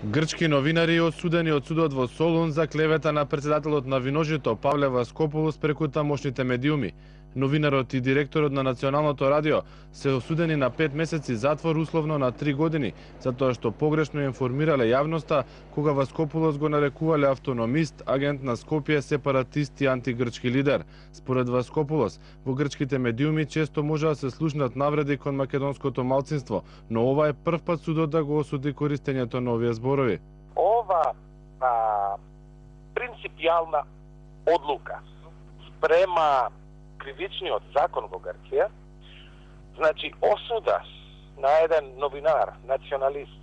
Грчки новинари осудени од судот во Солун за клевета на претседателот на Виножито Павле Васкопулос преку тамошните медиуми. Новинарот и директорот на Националното радио се осудени на 5 месеци затвор, условно на 3 години, затоа што погрешно информирале јавноста кога Васкопулос го нарекувале автономист, агент на Скопје, сепаратист и антигрчки лидер. Според Васкопулос, во грчките медиуми често може да се слушнат навреди кон македонското малцинство, но ова е прв пат судот да го осуди користењето на овие зборови. Ова принципијална одлука спрема кривичниот закон во Грција, значи осуда на еден новинар, националист,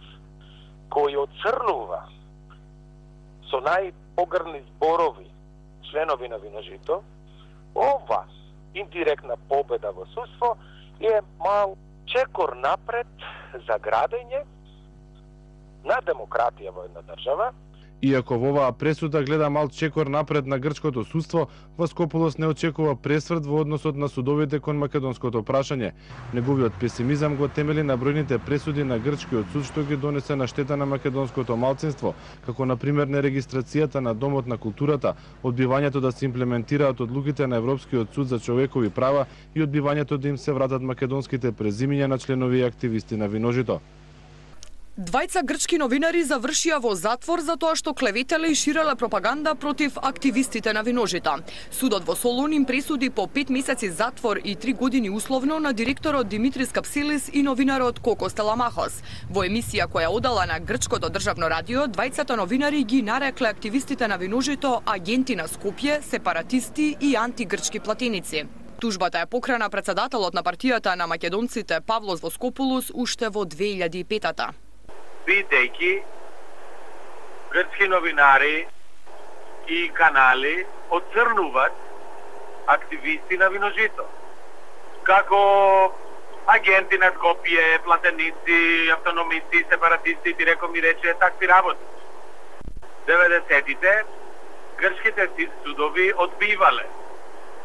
кој оцрнува со најпогрни зборови членови на Виножито, ова индиректна победа во судство е мал чекор напред за градење на демократија во една држава. Иако во оваа пресуда гледа мал чекор напред на грчкото судство, Васкопулос не очекува пресврт во односот на судовите кон македонското прашање. Неговиот песимизам го темели на бројните пресуди на грчкиот суд што ги донесе на штета на македонското малцинство, како на пример нерегистрацијата на Домот на културата, одбивањето да се имплементираат одлуките на Европскиот суд за човекови права и одбивањето да им се вратат македонските презимиња на членови и активисти на Виножито. Двајца грчки новинари завршија во затвор за тоа што клеветеле и ширеле пропаганда против активистите на Виножито. Судот во Солун им пресуди по 5 месеци затвор и 3 години условно на директорот Димитрис Капселис и новинарот Коко Стеламахос. Во емисија која одала на грчкото државно радио, двајцата новинари ги нарекле активистите на Виножито агенти на Скопје, сепаратисти и антигрчки платеници. Тужбата е покрена претседателот на партијата на македонците Павлос Воскопулос уште во 2005-та. Бидејќи грчки новинари и канали оцрнуваат активисти на Виножито како агенти на Скопје, платеници, автономисти, сепаратисти, диреко ми рече такви работи. 90-тите грчките судови одбивале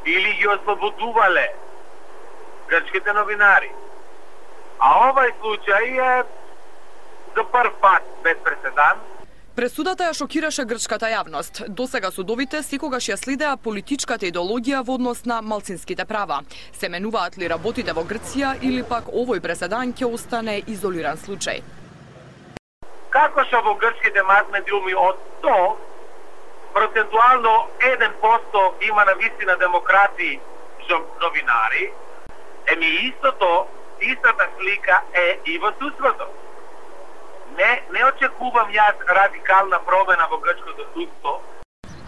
или ги ослободувале грчките новинари. А овај случај е за прв пат без преседан. Пресудата ја шокираше грчката јавност. Досега судовите секогаш ја следеа политичката идеологија во однос на малцинските права. Се менуваат ли работите во Грција или пак овој преседан ќе остане изолиран случај? Како што во грчките мас-медиуми од 100, процентуално 1% има на вистина демократи новинари, истата слика е и во судството. Не очекувам јас радикална промена во грчкото судство.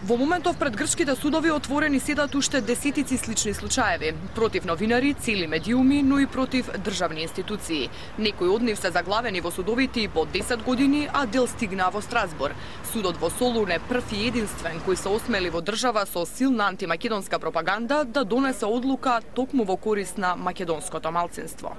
Во моментов пред грчките судови отворени седат уште десетици слични случаеви. Против новинари, цели медиуми, но и против државни институции. Некои од нив се заглавени во судовите и по 10 години, а дел стигна во Страсбур. Судот во Солун е прв и единствен кој се осмели во држава со силна антимакедонска пропаганда да донесе одлука токму во корист на македонското малцинство.